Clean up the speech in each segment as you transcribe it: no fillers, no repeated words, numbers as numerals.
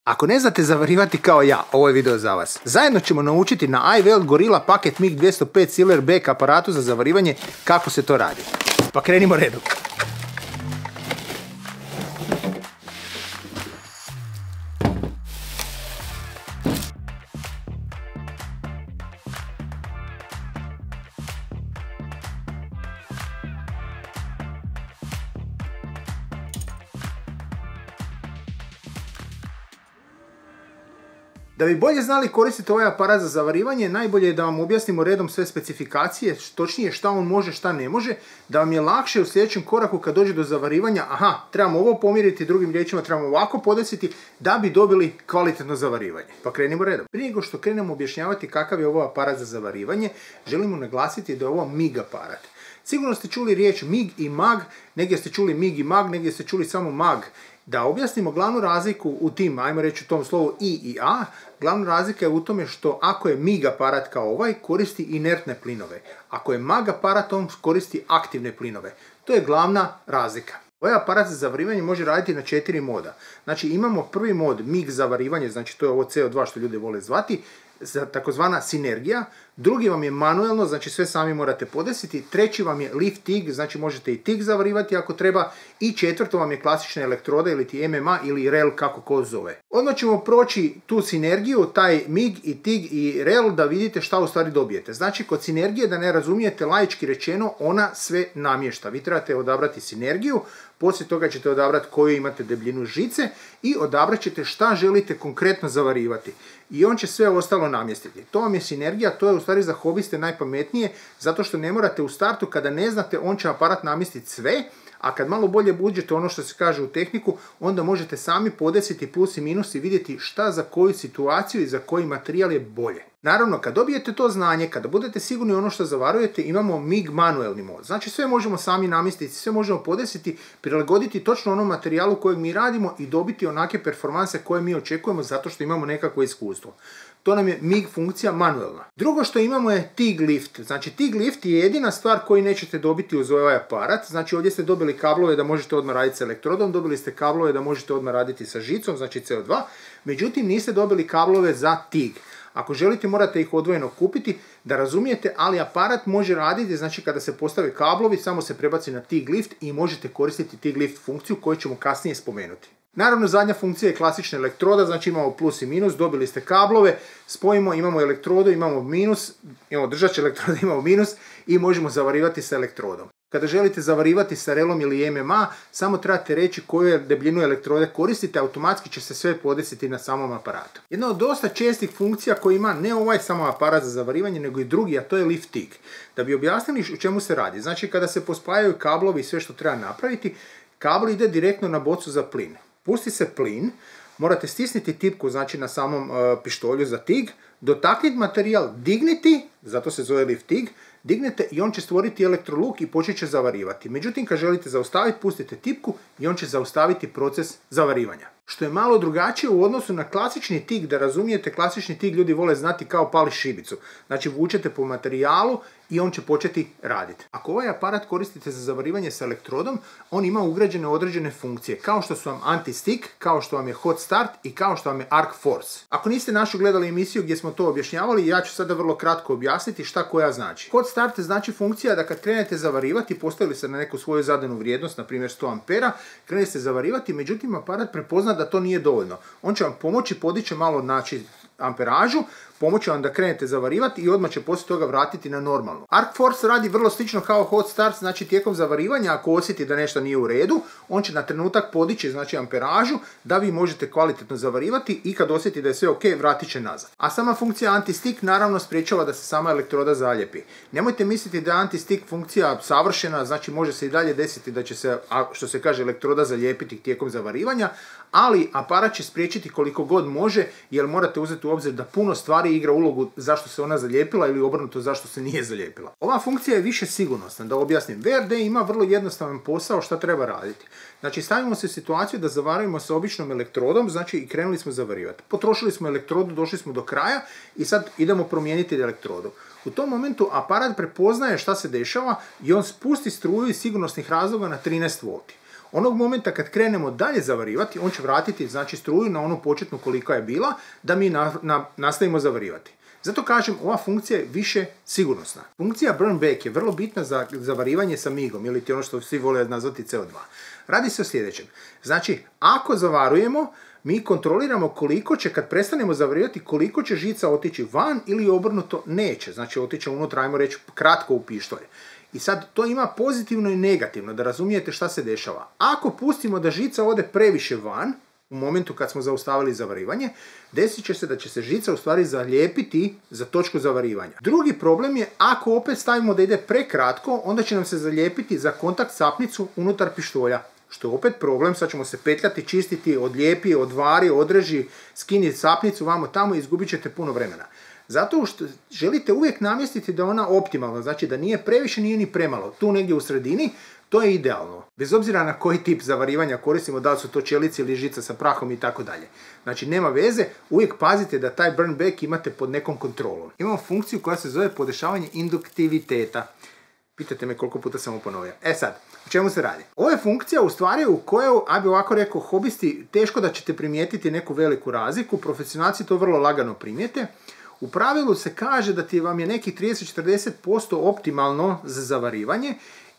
Ako ne znate zavarivati kao ja, ovo je video za vas. Zajedno ćemo naučiti na iWeld Gorilla Packet MIG 205 Silverback aparatu za zavarivanje kako se to radi. Pa krenimo redom. Da bi bolje znali koristiti ovaj aparat za zavarivanje, najbolje je da vam objasnimo redom sve specifikacije, točnije šta on može, šta ne može, da vam je lakše u sljedećem koraku kad dođe do zavarivanja, trebamo ovo pomjeriti, drugim riječima trebamo ovako podesiti da bi dobili kvalitetno zavarivanje. Pa krenimo redom. Prije nego što krenemo objašnjavati kakav je ovo aparat za zavarivanje, želimo naglasiti da je ovo MIG aparat. Sigurno ste čuli riječ MIG i MAG, negdje ste čuli MIG i MAG, negdje ste čuli samo MAG. Da objasnimo glavnu razliku u tim, ajmo reći u tom slovu I i A, glavna razlika je u tome što ako je MIG aparat kao ovaj, koristi inertne plinove. Ako je MAG aparat, on koristi aktivne plinove. To je glavna razlika. Ovaj aparat za zavarivanje može raditi na 4 moda. Znači imamo prvi mod MIG zavarivanje, znači to je ovo CO2 što ljudi vole zvati, takozvana sinergija. Drugi vam je manuelno, znači sve sami morate podesiti. Treći vam je lift TIG, znači možete i TIG zavarivati ako treba. I četvrto vam je klasična elektroda ili ti MMA ili REL kako ko zove. Odmah ćemo proći tu sinergiju, taj MIG i TIG i REL da vidite šta u stvari dobijete. Znači kod sinergije, da ne razumijete laički rečeno, ona sve namješta. Vi trebate odabrati sinergiju, poslije toga ćete odabrati koju imate debljinu žice i odabrat ćete šta želite konkretno zavarivati. I on će sve ostalo namjestiti. To vam je sinergija, to je u stvari za hobiste najpametnije, zato što ne morate u startu, kada ne znate, on će aparat namjestiti sve, a kad malo bolje uđete ono što se kaže u tehniku, onda možete sami podesiti plus i minus i vidjeti šta za koju situaciju i za koji materijal je bolje. Naravno, kad dobijete to znanje, kada budete sigurni ono što zavarujete, imamo MIG manuelni mod. Znači sve možemo sami namjestiti, sve možemo podesiti, prilagoditi točno onom materijalu kojeg mi radimo i dobiti onake performanse koje mi očekujemo zato što imamo nekakvo iskustvo. To nam je MIG funkcija manuelna. Drugo što imamo je TIG lift. Znači TIG lift je jedina stvar koju nećete dobiti uz ovaj aparat. Znači ovdje ste dobili kablove da možete odmah raditi s elektrodom, dobili ste kablove da možete odmah raditi sa žicom, znači CO2. Međutim niste dobili kablove za TIG. Ako želite morate ih odvojeno kupiti da razumijete, ali aparat može raditi, znači kada se postave kablovi samo se prebaci na TIG lift i možete koristiti TIG lift funkciju koju ćemo kasnije spomenuti. Naravno zadnja funkcija je klasična elektroda, znači imamo plus i minus, dobili ste kablove, spojimo, imamo elektrodu, imamo minus, imamo držač elektroda, imamo minus i možemo zavarivati sa elektrodom. Kada želite zavarivati sa relom ili MMA, samo trebate reći koju debljinu elektrode koristite, automatski će se sve podesiti na samom aparatu. Jedna od dosta čestih funkcija koja ima ne ovaj samo aparat za zavarivanje, nego i drugi, a to je lift TIG. Da bi objasnili o čemu se radi, znači kada se pospajaju kablovi i sve što treba napraviti, kabel ide direktno na bocu za plin. Pusti se plin, morate stisniti tipku, znači na samom pištolju za TIG, dotakniti materijal, digniti, zato se zove lift TIG, dignete i on će stvoriti elektroluk i počet će zavarivati. Međutim, kad želite zaustaviti, pustite tipku i on će zaustaviti proces zavarivanja. Što je malo drugačije u odnosu na klasični TIG, da razumijete, klasični TIG ljudi vole znati kao pali šibicu. Znači vučete po materijalu i on će početi raditi. Ako ovaj aparat koristite za zavarivanje sa elektrodom, on ima ugrađene određene funkcije, kao što su vam anti-stick, kao što vam je hot start i kao što vam je arc force. Ako niste našu gledali emisiju gdje smo to objašnjavali, ja ću sada vrlo kratko objasniti šta koja znači. Hot start znači funkcija da kad krenete zavarivati, postavili ste na neku svoju zadanu vrijednost, na primjer 100 ampera, krenete zavarivati, međutim aparat prepozna da to nije dovoljno. On će vam pomoći, podići malo amperažu, pomoći vam da krenete zavarivati i odmah će poslije toga vratiti na normalno. Arc force radi vrlo slično kao hot start, znači tijekom zavarivanja ako osjeti da nešto nije u redu, on će na trenutak podići, znači amperažu, da vi možete kvalitetno zavarivati i kad osjeti da je sve ok, vratit će nazad. A sama funkcija anti-stick naravno spriječava da se sama elektroda zaljepi. Nemojte misliti da je anti-stick funkcija savršena, znači može se i dalje desiti da će se, što se kaže, elektroda zalijepiti tijekom zavarivanja, ali aparat će spriječiti koliko god može, jer morate uzeti u obzir da puno stvari igra ulogu zašto se ona zalijepila ili obrnuto zašto se nije zalijepila. Ova funkcija je više sigurnosna, da objasnim. VRD ima vrlo jednostavan posao šta treba raditi. Znači stavimo se u situaciju da zavarujemo sa običnom elektrodom, znači i krenuli smo zavarivati. Potrošili smo elektrodu, došli smo do kraja i sad idemo promijeniti elektrodu. U tom momentu aparat prepoznaje šta se dešava i on spusti struju iz sigurnosnih razloga na 13 V. Onog momenta kad krenemo dalje zavarivati, on će vratiti znači struju na onu početnu kolika je bila, da mi nastavimo zavarivati. Zato kažem, ova funkcija je više sigurnosna. Funkcija burn back je vrlo bitna za zavarivanje sa migom, ili ti ono što svi vole nazvati CO2. Radi se o sljedećem. Znači, ako zavarujemo, mi kontroliramo koliko će, kad prestanemo zavarivati, koliko će žica otići van ili obrnuto neće. Znači, otiće unutra, ajmo reći, kratko u pištolj. I sad, to ima pozitivno i negativno, da razumijete šta se dešava. Ako pustimo da žica ode previše van, u momentu kad smo zaustavili zavarivanje, desit će se da će se žica u stvari zalijepiti za točku zavarivanja. Drugi problem je, ako opet stavimo da ide prekratko, onda će nam se zalijepiti za kontakt sapnicu unutar pištolja. Što je opet problem, sad ćemo se petljati, čistiti, odlijepi, odvari, odreži, skini sapnicu, vamo tamo i izgubit ćete puno vremena. Zato što želite uvijek namjestiti da je ona optimalna, znači da nije previše, nije ni premalo. Tu negdje u sredini, to je idealno. Bez obzira na koji tip zavarivanja koristimo, da li su to čelice ili žica sa prahom i tako dalje. Znači nema veze, uvijek pazite da taj burn back imate pod nekom kontrolom. Imamo funkciju koja se zove podešavanje induktiviteta. Pitate me koliko puta sam ponovio. Sad, o čemu se radi? Ovo je funkcija u stvari u kojoj, a bi ovako rekao, hobisti, teško da ćete primijetiti neku veliku razliku, profesionalci to vrlo lagano primijete. U pravilu se kaže da vam je nekih 30-40% optimalno za zavarivanje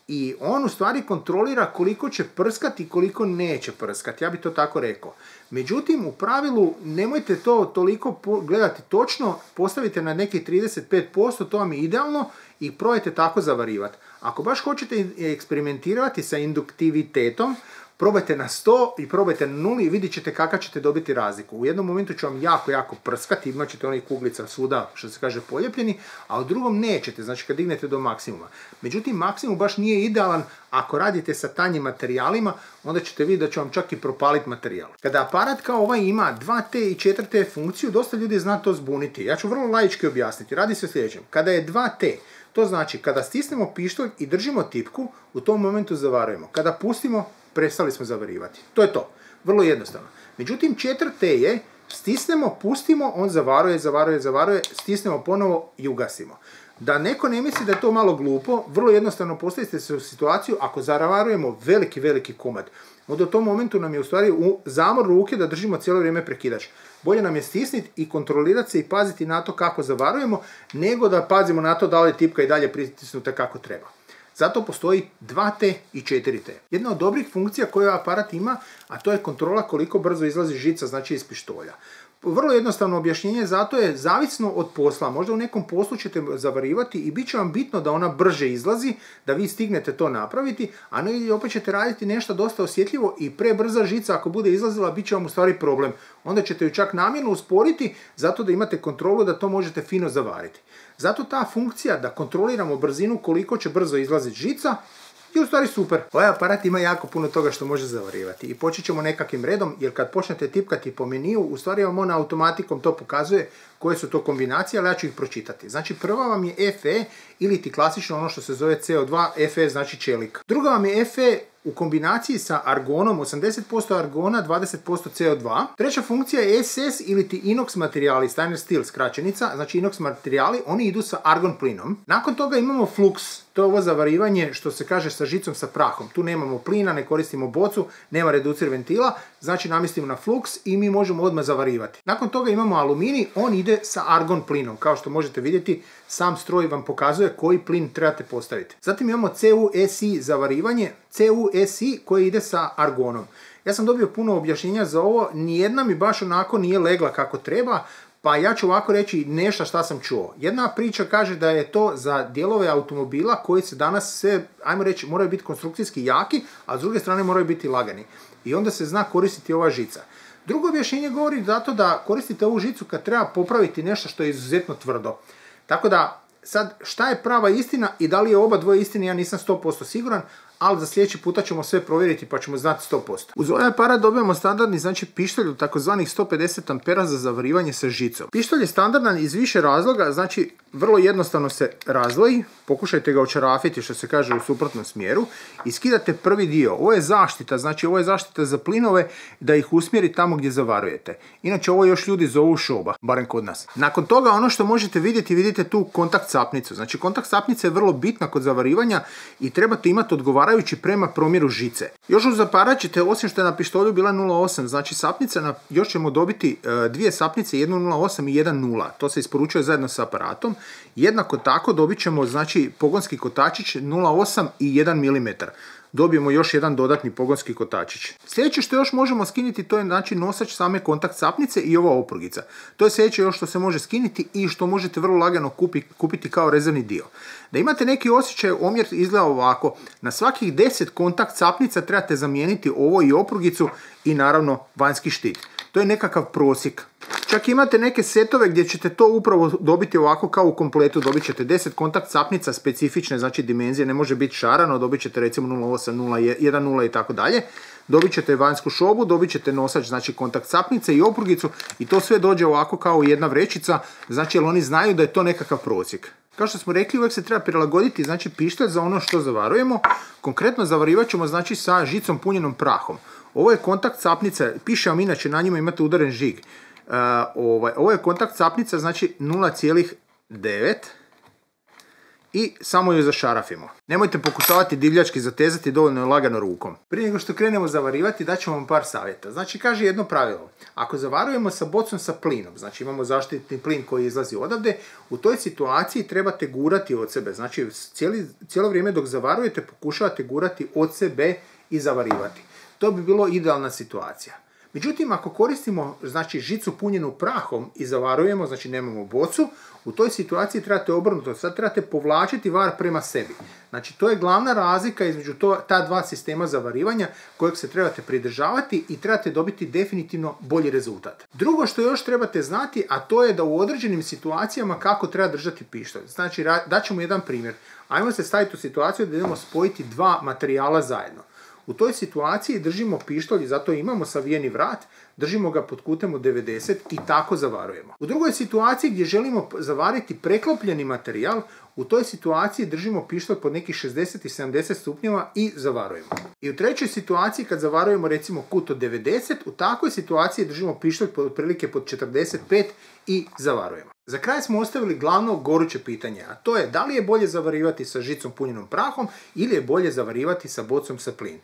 i on u stvari kontrolira koliko će prskati i koliko neće prskati, ja bi to tako rekao. Međutim, u pravilu nemojte to toliko gledati točno, postavite na nekih 35%, to vam je idealno i probajte tako zavarivati. Ako baš hoćete eksperimentirati sa induktivitetom, probajte na 100 i probajte na 0 i vidjet ćete kakav ćete dobiti razliku. U jednom momentu će vam jako prskati, imat ćete onih kuglica svuda, što se kaže, poljepljeni, a u drugom nećete, znači kad dignete do maksimuma. Međutim, maksimum baš nije idealan. Ako radite sa tanjim materijalima, onda ćete vidjeti da će vam čak i propaliti materijal. Kada aparat kao ovaj ima 2T i 4T funkciju, dosta ljudi zna to zbuniti. Ja ću vrlo laički objasniti. Radi se o sljedećem. Kada je 2T, to znači kada stisnemo pištolj i držimo tipku, u tom momentu zavarujemo. Kada pustimo, prestali smo zavarivati. To je to. Vrlo jednostavno. Međutim, 4T je stisnemo, pustimo, on zavaruje, stisnemo ponovo i ugasimo. Da neko ne misli da je to malo glupo, vrlo jednostavno postavite se u situaciju ako zavarujemo veliki komad. Onda u tom momentu nam je u stvari u zamor ruke da držimo cijelo vrijeme prekidač. Bolje nam je stisniti i kontrolirati se i paziti na to kako zavarujemo, nego da pazimo na to da li je tipka i dalje pritisnuta kako treba. Zato postoji 2T i 4T. Jedna od dobrih funkcija koju aparat ima, a to je kontrola koliko brzo izlazi žica, znači iz pištolja. Vrlo jednostavno objašnjenje, zato je zavisno od posla. Možda u nekom poslu ćete zavarivati i bit će vam bitno da ona brže izlazi, da vi stignete to napraviti, a negdje opet ćete raditi nešto dosta osjetljivo i prebrza žica ako bude izlazila, bit će vam u stvari problem. Onda ćete ju čak namjerno usporiti zato da imate kontrolu da to možete fino zavariti. Zato ta funkcija da kontroliramo brzinu koliko će brzo izlaziti žica je u stvari super. Ovaj aparat ima jako puno toga što može zavarivati i počet ćemo nekakvim redom, jer kad počnete tipkati po meniju, u stvari vam on automatikom to pokazuje koje su to kombinacije, ali ja ću ih pročitati. Znači prva vam je FE ili ti klasično ono što se zove CO2, FE znači čelik. Druga vam je FE u kombinaciji sa argonom, 80% argona, 20% CO2. Treća funkcija je SS ili ti inox materijali, stainless steel skraćenica, znači inox materijali, oni idu sa argon plinom. Nakon toga imamo flux, to je ovo zavarivanje što se kaže sa žicom sa prahom. Tu nemamo plina, ne koristimo bocu, nema reducir ventila, znači namjestimo na flux i mi možemo odmah zavarivati. Nakon toga imamo aluminij, on ide sa argon plinom. Kao što možete vidjeti, sam stroj vam pokazuje koji plin trebate postaviti. Zatim imamo CuSi zavarivanje, CuSi koji ide sa argonom. Ja sam dobio puno objašnjenja za ovo, nijedna mi baš onako nije legla kako treba, pa ja ću ovako reći nešto šta sam čuo. Jedna priča kaže da je to za dijelove automobila koji se danas sve, ajmo reći, moraju biti konstrukcijski jaki, a s druge strane moraju biti lagani. I onda se zna koristiti ova žica. Drugo objašnjenje govori zato da koristite ovu žicu kad treba popraviti nešto što je izuzetno tvrdo. Tako da, sad, šta je prava istina i da li je oba dvoje istine, ja nisam 100% siguran, ali za sljedeći puta ćemo sve provjeriti pa ćemo znati 100%. Uz ovaj aparat dobijamo standardni, znači pištolj od takozvanih 150 ampera za zavarivanje sa žicom. Pištolj je standardan iz više razloga, znači vrlo jednostavno se razdvoji, pokušajte ga očarafiti što se kaže u suprotnom smjeru i skidate prvi dio. Ovo je zaštita, znači ovo je zaštita za plinove da ih usmjeri tamo gdje zavarujete. Inače ovo još ljudi zovu šoba, barem kod nas. Nakon toga ono što možete vidjeti, vidite tu kontakt sapnicu. Znači kontakt sapnice je vrlo bitna kod zavarivanja i trebate imati odgovarajući zaparajući prema promjeru žice. Još uz zaparat ćete, osim što je na pištolju bila 0,8, znači sapnica, još ćemo dobiti dvije sapnice, 1,08 i 1,0. To se isporučuje zajedno sa aparatom. Jednako tako dobit ćemo znači pogonski kotačić 0,8 i 1 mm. Dobijemo još jedan dodatni pogonski kotačić. Sljedeće što još možemo skinuti to je znači nosač same kontakt sapnice i ova oprugica. To je sljedeće još što se može skinuti i što možete vrlo lagano kupiti kao rezervni dio. Da imate neki osjećaj, omjer izgleda ovako. Na svakih 10 kontakt sapnica trebate zamijeniti ovo i oprugicu i naravno vanjski štit. To je nekakav prosjek. Čak imate neke setove gdje ćete to upravo dobiti ovako kao u kompletu. Dobit ćete 10 kontakt sapnica specifične, znači dimenzije, ne može biti šarano, dobit ćete recimo 0,8, 1,0 i tako dalje. Dobit ćete vanjsku šobu, dobit ćete nosač, znači kontakt sapnice i oprugicu i to sve dođe ovako kao jedna vrećica, znači jer oni znaju da je to nekakav prosjek. Kao što smo rekli, uvijek se treba prilagoditi znači pištolj za ono što zavarujemo. Konkretno zavarivat ćemo znači sa žicom punjenom prahom. Ovo je kontakt sapnica, piše vam inače, na njima imate udaren žig. Ovo je kontakt sapnica, znači 0,9 i samo ju zašarafimo. Nemojte pokušavati divljački zatezati, dovoljno je lagano rukom. Prije nego što krenemo zavarivati, daćemo vam par savjeta. Znači kaže jedno pravilo, ako zavarujemo sa bocom sa plinom, znači imamo zaštitni plin koji izlazi odavde, u toj situaciji trebate gurati od sebe. Znači cijelo vrijeme dok zavarujete pokušavate gurati od sebe i zavarivati. To bi bilo idealna situacija. Međutim, ako koristimo znači, žicu punjenu prahom i zavarujemo, znači nemamo bocu, u toj situaciji trebate obrnuto, sad trebate povlačiti var prema sebi. Znači, to je glavna razlika između ta dva sistema zavarivanja kojeg se trebate pridržavati i trebate dobiti definitivno bolji rezultat. Drugo što još trebate znati, a to je da u određenim situacijama kako treba držati pištolj. Znači, daćemo jedan primjer. Ajmo se staviti u situaciju da idemo spojiti dva materijala zajedno. U toj situaciji držimo pištolj i zato imamo savijeni vrat, držimo ga pod kutem od 90 i tako zavarujemo. U drugoj situaciji gdje želimo zavariti preklopljeni materijal, u toj situaciji držimo pištolj pod nekih 60 i 70 stupnjeva i zavarujemo. I u trećoj situaciji kad zavarujemo recimo kut od 90, u takvoj situaciji držimo pištolj otprilike pod 45 i zavarujemo. Za kraj smo ostavili glavno goruće pitanje, a to je da li je bolje zavarivati sa žicom punjenom prahom ili je bolje zavarivati sa bocom sa plin.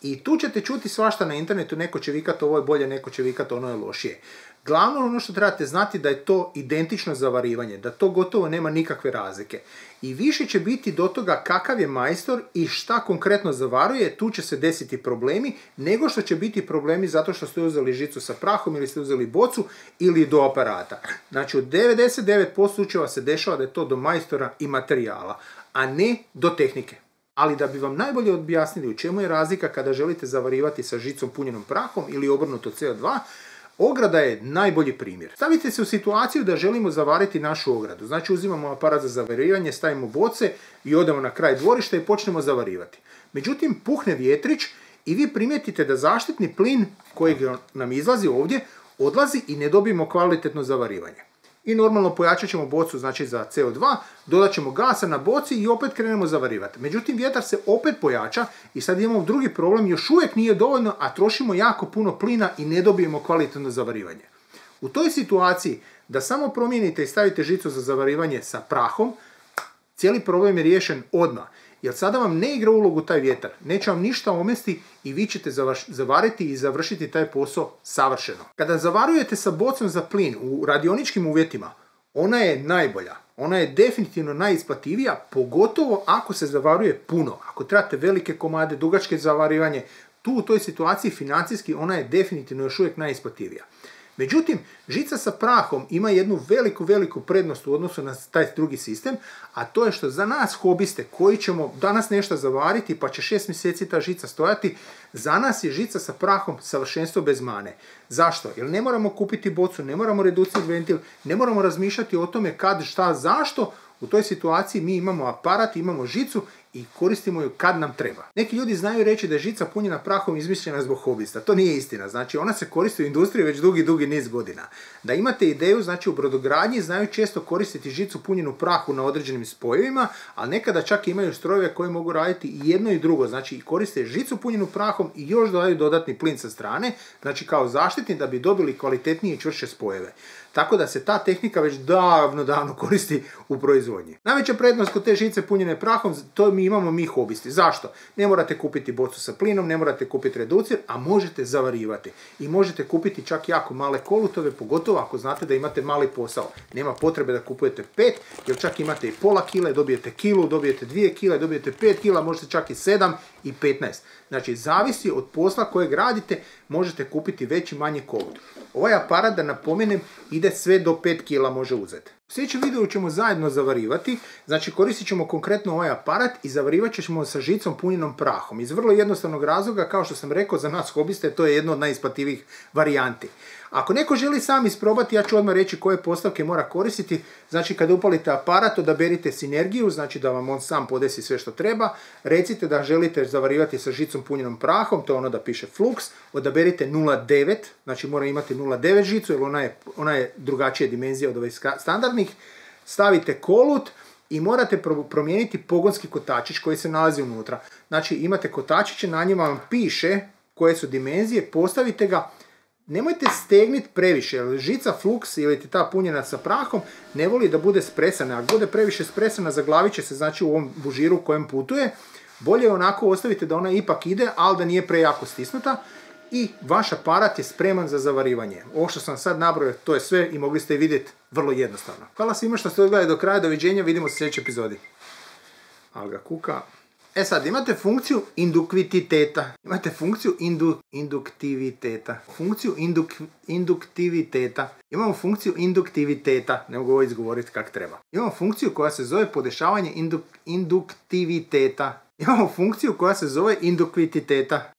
I tu ćete čuti svašta na internetu, neko će vikati ovo je bolje, neko će vikati ono je lošije. Glavno ono što trebate znati da je to identično zavarivanje, da to gotovo nema nikakve razlike. I više će biti do toga kakav je majstor i šta konkretno zavaruje, tu će se desiti problemi, nego što će biti problemi zato što ste uzeli žicu sa prahom ili ste uzeli bocu ili do aparata. Znači, od 99% slučajeva se dešava da je to do majstora i materijala, a ne do tehnike. Ali da bi vam najbolje objasnili u čemu je razlika kada želite zavarivati sa žicom punjenom prahom ili obrnuto CO2, ograda je najbolji primjer. Stavite se u situaciju da želimo zavariti našu ogradu. Znači uzimamo aparat za zavarivanje, stavimo boce i odemo na kraj dvorišta i počnemo zavarivati. Međutim, puhne vjetrić i vi primijetite da zaštitni plin koji nam izlazi ovdje odlazi i ne dobijemo kvalitetno zavarivanje. I normalno pojačat ćemo bocu znači za CO2, dodat ćemo gasa na boci i opet krenemo zavarivati. Međutim, vjetar se opet pojača i sad imamo drugi problem, još uvijek nije dovoljno, a trošimo jako puno plina i ne dobijemo kvalitetno zavarivanje. U toj situaciji da samo promijenite i stavite žicu za zavarivanje sa prahom, cijeli problem je riješen odmah. Jer sada vam ne igra ulogu taj vjetar, neće vam ništa omesti i vi ćete zavariti i završiti taj posao savršeno. Kada zavarujete sa bocom za plin u radioničkim uvjetima, ona je najbolja, ona je definitivno najisplativija, pogotovo ako se zavaruje puno. Ako trebate velike komade, dugačke zavarivanje, tu u toj situaciji financijski ona je definitivno još uvijek najisplativija. Međutim, žica sa prahom ima jednu veliku prednost u odnosu na taj drugi sistem, a to je što za nas hobiste koji ćemo danas nešto zavariti pa će 6 mjeseci ta žica stojati, za nas je žica sa prahom savršenstvo bez mane. Zašto? Jer ne moramo kupiti bocu, ne moramo reducirati ventil, ne moramo razmišljati o tome kad, šta, zašto. U toj situaciji mi imamo aparat, imamo žicu i koristimo ju kad nam treba. Neki ljudi znaju reći da je žica punjena prahom izmišljena zbog hobista. To nije istina. Znači, ona se koristi u industriji već dugi niz godina. Da imate ideju, znači u brodogradnji znaju često koristiti žicu punjenu prahu na određenim spojevima, a nekada čak imaju strojeve koji mogu raditi i jedno i drugo. Znači, koriste žicu punjenu prahom i još dodaju dodatni plin sa strane, znači kao zaštitni da bi dobili kvalitetnije i čvršće spojeve. Tako da se ta tehnika već davno koristi u proizvodnji. Najveća prednost kod te žice punjene prahom, to mi imamo mi hobisti. Zašto? Ne morate kupiti bocu sa plinom, ne morate kupiti reducir, a možete zavarivati. I možete kupiti čak jako male kolutove, pogotovo ako znate da imate mali posao. Nema potrebe da kupujete 5, jer čak imate i pola kile, dobijete kilu, dobijete 2 kile, dobijete 5 kila, možete čak i 7 i 15. Znači, zavisi od posla kojeg radite, možete kupiti veći manji kolut. Ovaj aparat, da napomenem, ide sve do 5 kila može uzeti. U sljedećem videu ćemo zajedno zavarivati, znači koristit ćemo konkretno ovaj aparat i zavarivat ćemo sa žicom punjenom prahom. Iz vrlo jednostavnog razloga, kao što sam rekao, za nas hobiste to je jedno od najisplativijih varijanti. Ako neko želi sam isprobati, ja ću odmah reći koje postavke mora koristiti. Znači, kada upalite aparat, odaberite sinergiju, znači da vam on sam podesi sve što treba. Recite da želite zavarivati sa žicom punjenom prahom, to je ono da piše Flux. Odaberite 0,9, znači mora imati 0,9 žicu, jer ona je drugačije dimenzija od ovih standardnih. Stavite kolut i morate promijeniti pogonski kotačić koji se nalazi unutra. Znači, imate kotačiće, na njima vam piše koje su dimenzije, postavite ga. Nemojte stegniti previše, jer žica Flux ili ta punjena sa prahom ne voli da bude spresana. Ako bude previše spresana, zaglavit će se, znači, u ovom bužiru u kojem putuje. Bolje onako ostavite da ona ipak ide, ali da nije prejako stisnuta. I vaš aparat je spreman za zavarivanje. Ovo što sam sad nabrojao, to je sve i mogli ste vidjeti vrlo jednostavno. Hvala svima što ste odgledali do kraja, doviđenja, vidimo se u sljedećoj epizodi. Alga kuka. E sad, imate funkciju induktiviteta. Imate funkciju induktiviteta. Induktiviteta. Imamo funkciju induktiviteta. Ne mogu ovo izgovoriti kako treba. Imamo funkciju koja se zove podešavanje induktiviteta. Imamo funkciju koja se zove induktiviteta.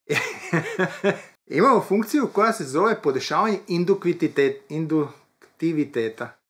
Imamo funkciju koja se zove podešavanje induktiviteta.